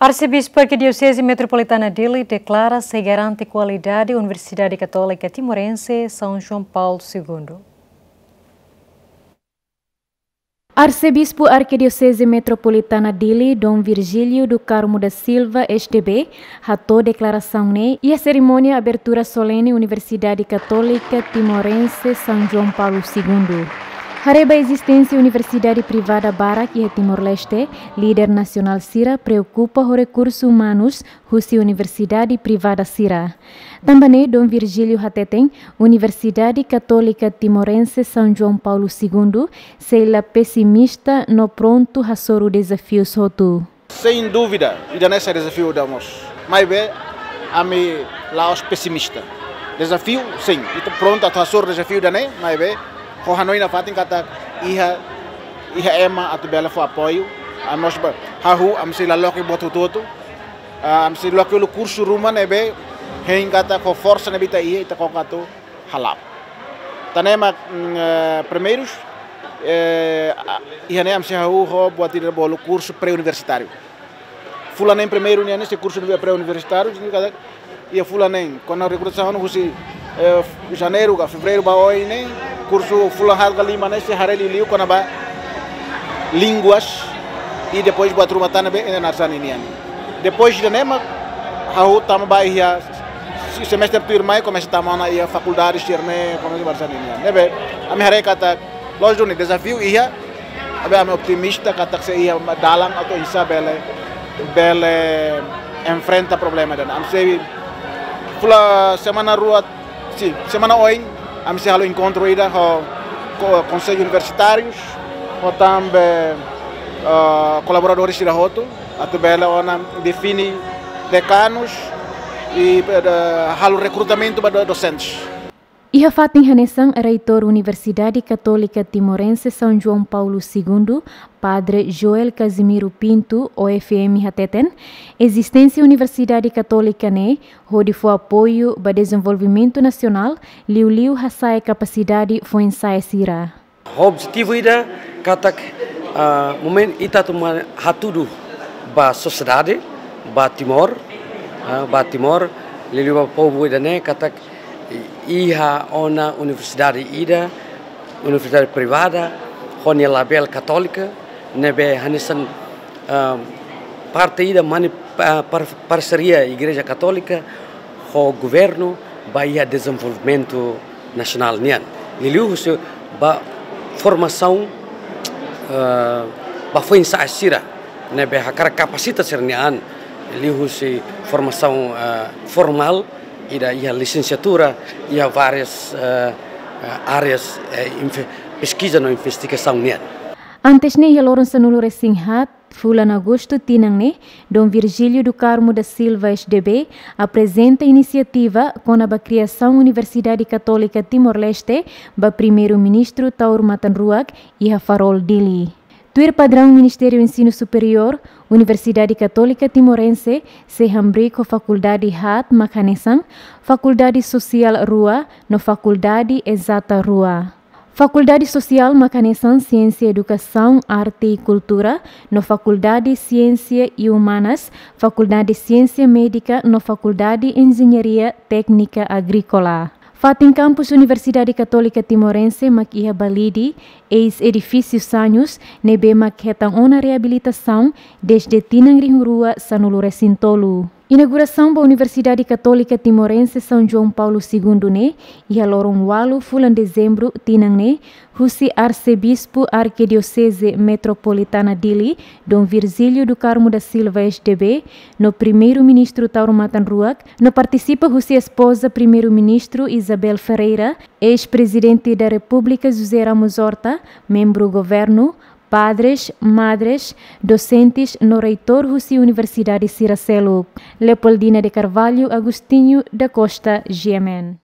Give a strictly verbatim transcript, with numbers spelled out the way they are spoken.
Arsebispu Arkidioseze Metropolitana Dili deklara sei garante kualidade Universidade Katólika Timorense São João Paulo Segundo. Arsebispu Arkidioseze Metropolitana Dili, Dom Virgílio do Carmo da Silva, S D B, hato'o deklarasaun ne'e iha serimónia abertura solene Universidade Katólika Timorense São João Paulo Segundo. Haree ba ezisténsia universidade privada barak iha Timor-Leste, líder nasionál sira preokupa ho rekursu umanus husi universidade privada sira. Tanba ne'e Dom Virgílio hateten, Universidade Katólika Timorense São João Paulo Segundo sei la pesimista no prontu hasoru dezafius hotu. Sem dúvida, ida-ne'e sai dezafiu ida mós. Maibé, ami la'ós pesimista. Dezafiu, sin. Ita prontu atu hasoru dezafiu ida-ne'e, maibé, ho hanoin nafatin katak iha, iha ema atu bele fó apoiu. Ami mós ba, hahú, ami sei la loke buat hotu-hotu. Ah, ami sei loke uluk kursu ruma ne'ebé, hein katak ho forsa ne'ebé ita iha, ita koko atu hala'o. Tan ne'e mak, mm, eh, primeirus, eh, a, iha ne'e ami sei hahú ho buat ida bolu kursu pré-universitáriu. Fulan neen primeiru nian ne'e sei kursu pré-universitáriu, signifika katak iha fulan neen, kuandu rekrutasaun husi, eh, janeiru ka fevereiru ba oin ne'e, kursu fulan haat ka lima ne'e sei haree liuliu kona-ba línguas, i depois buat ruma tan ne'ebé iha nasaun nian. Depois ida-ne'e mak hahú tama ba iha se-, semestre tuirmai komesa tama ona iha fakuldade sira-ne'e, komesa ba nasaun nian. Ne'ebé, ami haree katak, lójiku ne'e dezafiu iha, maibé ami optimista katak sei iha dalan atu oinsá bele, bele enfrenta problema ida-ne'e. Ami sei, fulan semana rua, sin, semana oin, ami sei halo enkontru ida ho, ho konsellu universitárius, ho tanba, ah, kolaboradores sira hotu, atu bele ona define dekanus i, eh, halo rekrutamentu ba do-, dosentes. Iha fatin hanesan, Reitór Universidade Katólika Timorense São João Paulo Segundo, Padre Joel Casimiro Pinto, O F M, hateten, ezisténsia Universidade Katólika ne'e hodi fó apoiu ba dezenvolvimentu nasionál, liuliu hasa'e kapasidade foin-sa'e sira. Objetivu ida katak, ah, momentu ita atu ma-, hatudu ba sosiedade, ba Timor, ah, ba Timor, liuliu ba povu ida-ne'e katak iha ona universidade ida, universidade privada, ho nia label katólika, ne'ebé hanesan, ah, parte ida mani, ah, par-, parseria Igreja Katólika ho governu ba iha dezenvolvimentu nasionál nian. Liuliu husi ba formasaun, eh, ba foin-sa'e sira ne'ebé hakarak kapasita sira-nia an, liuhusi formasaun, eh, formál, ida iha lisensiatura, iha várias, eh, eh, áreas, eh, inve-, peskiza no investigasaun nian. Antes ne'e, iha loron sanulu-resin-haat fulan Agostu tinan ne'e, Dom Virgílio do Carmo da Silva, S D B, aprezenta inisiativa kona-ba kriasaun Universidade Katólika Timor-Leste ba Primeiru-Ministru Taur Matan Ruak iha Farol, Dili. Tuir padraun Ministériu Ensinu Superiór, Universidade Katólika Timorense sei hamriik ho fakuldade haat mak hanesan, Fakuldade Sosiál rua no Fakuldade Ezata rua. Fakuldade Sosiál mak hanesan Siénsia Edukasaun, Arte i Kultura, no Fakuldade Siénsia i Umanas, Fakuldade Siénsia Médika no Fakuldade Enjeñaria Téknika Agríkola. Fatin kampus Universidade Katólika Timorense mak iha Balide, eis-edifísiu Sanhus, ne'ebé mak hetan ona reabilitasaun dezde tinan rihun rua sanulu-resin-tolu. Inaugurasaun ba Universidade Katólika Timorense São João Paulo Segundo ne'e, iha loron ualu fulan Dezembru tinan ne'e, husi Arsebispu Arkidioseze Metropolitana Dili, Dom Virgílio do Carmo da Silva, S D B, no Primeiru-Ministru Taur Matan Ruak, no partisipa husi espoza Primeiru-Ministru Isabel Ferreira, eis-Prezidente da Repúblika José Ramos Horta, membru governu, padres, madres, dosentes no reitór husi universidade sira seluk. Leopoldina de Carvalho, Agostinho da Costa, G M N.